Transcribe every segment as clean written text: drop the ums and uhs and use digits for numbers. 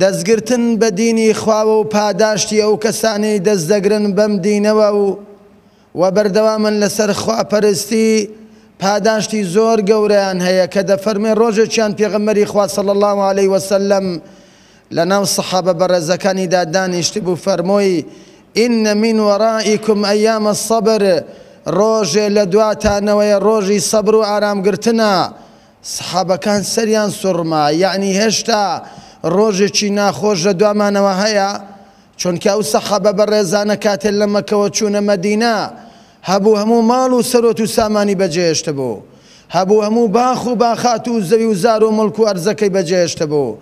دەستگرتن بە دینی خواوە و پاداشتی ئەو کەسانەی دەست دەگرن بەم دینەوە و و بەردەوامن لەسەر خواپەرستی پاداشتی زۆر گەورەیان هەیە کە دەفەرمێ ڕۆژێکیان پێغەمبەری خوا صلی اللە علیه وسلم لەناو سەحابە بەڕێزەکانیدا دانیشتبوو فەرمووی ان من ورائکم ایام الصبر ڕۆژێ لە دواتانەوەیە ڕۆژی سەبر و ئارامگرتنە سەحابەکان سەریان سوڕما یەعنی هێشتا ڕۆژێکی ناخۆش لە دوامانەوە هەیە؟ چونکە ئەو سەحابە بەڕێزانە کاتێ لە مەکەوە چوونە مەدینە هەبوو هەموو ماڵ و سەرۆت و سامانی بەجێهێشتبوو، هەبوو هەموو باخ و باخات و زەوی و زار و موڵک و ئەرزەکەی بەجێهێشتبوو،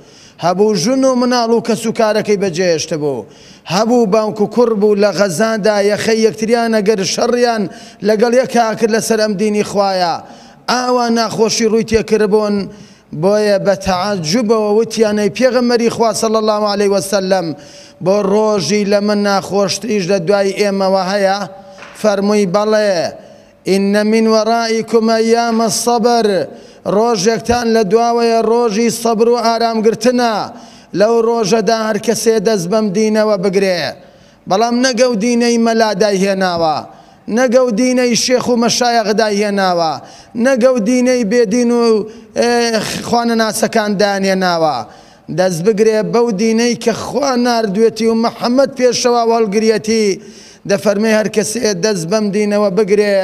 هەبوو ژن و مناڵ و کەسوکارەکەی بەجێهێشتبوو، هەبوو باوک و کوڕ بوو لە غەزادا یەخەی یەکتریان ئەگرت شەڕیان لەگەڵ یەکا ئەکرد لەسەر ئەم دینی خوایە ئاوا ناخۆشی ڕووی تێکردبوون بۆیە بە تەعەجوبەوە وتیان ئەی پێغەمبەری خوا صلی اللە علیە وسلم بۆ ڕۆژی لەمە ناخۆشتریش لە دوای ئێمەوە هەیە؟ فەرمووی بەڵێ، ان من ورائکم ایام الصبر، ڕۆژێکتان لە دواوەیە ڕۆژی سەبر و ئارامگرتنە، لەو ڕۆژەدا هەرکەسێ دەست بەم دینەوە بگرێ بەڵام نەک ئەو دینەی مەلا دایهێناوە، نەک ئەو دینەی شێخ و مەشایەخ دایهێناوە، نەک ئەو دینەی بێدین و خوانەناسەکان دایانهێناوە، دەست بگرێ بەو دینەی کە خوا ناردوێتی و محەمەد پێشەوا و هەڵگریەتی، دەفەرمێ هەرکەسێ دەست بەم دینەوە بگرێ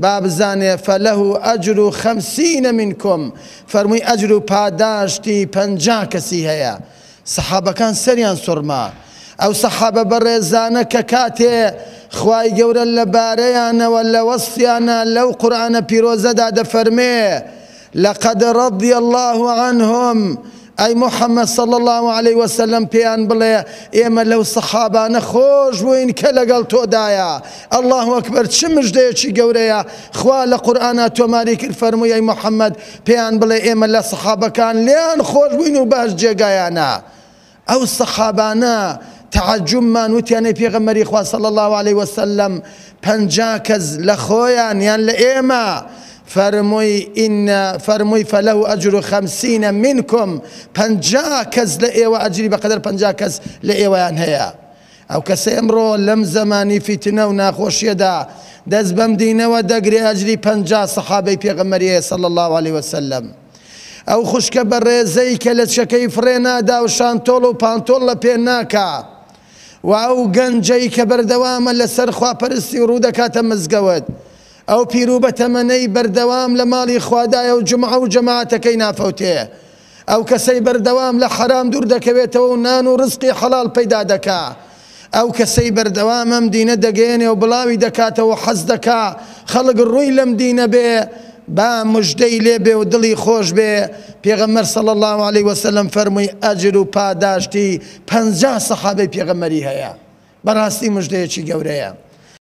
با بزانێ فله اجر خمسین منکم، فەرمووی ئەجر و پاداشتی 50 کەسی هەیە. سەحابەکان سەریان سوڕما ئەو سەحابە بەڕێزانە کە کاتێ خوای گەورە لە بارەیانەوە لە وەسفیانە لەو قورئانە پیرۆزەدا دەفەرمێ لقد رضی الله عنهم ئەی محمد صلی اللە علیه وسلم پێیان بڵێ ئێمە لەو سەحابانە خۆش بووین کە لەگەڵ تۆدایە اللە اکبر چ مژدەیەکی گەورەیە خوا لە قورئانا تۆماری کرد فەرمووی ئەی محمد پێیان بڵێ ئێمە لە سەحابەکان لێیان خۆش بووین و باش جێگایانە ئەو سەحابانە تەعەجوبمان وتیان ئەی پێغەمبەری خوا صلی اللە علیه وسلم 50 کەس لە خۆیان یان لە ئێمە فەرمووی إن فەرمووی فله أجر خمسین منکم 50 کەس لە ئێوە ئەجری بەقەدەر 50 کەس لە ئێوەیان هەیە ئەو کەسەی ئەمڕۆ لەم زەمانی فیتنە و ناخۆشیەدا دەست بەم دینەوە دەگرێ ئەجری 50 سەحابەی پێغەمبەری هەیە صلی اللە علیه وسلم. ئەو خوشکە بەڕێزەی کە لەچکەکەی فڕێ نادا و شانتۆڵ و پانتۆڵ لە پێ ناکا و ئەو گەنجەی کە بەردەوامە لەسەر خواپەرستی و ڕوو دەکاتە مزگەوت ئەو پیر و بەتەمەنەی بەردەوام لە ماڵی خوادایە و جومعە و جەماعەتەکەی نافەوتێ ئەو کەسەی بەردەوام لە حەرام دوور دەکەوێتەوە و نان و ڕزقی حەڵاڵ پەیدا دەکا، ئەو کەسەی بەردەوام ئەم دینە دەگەیەنێ و بڵاوی دەکاتەوە و حەز دەکا خەڵک ڕووی لەم دینە بێ، با مژدەی لێ بێ و دڵی خۆش بێ، پێغەمبەر صلی اللە علیە وسلم فەرمووی ئەجر و پاداشتی 50 سەحابەی پێغەمبەری هەیە. بەڕاستی مژدەیەکی گەورەیە.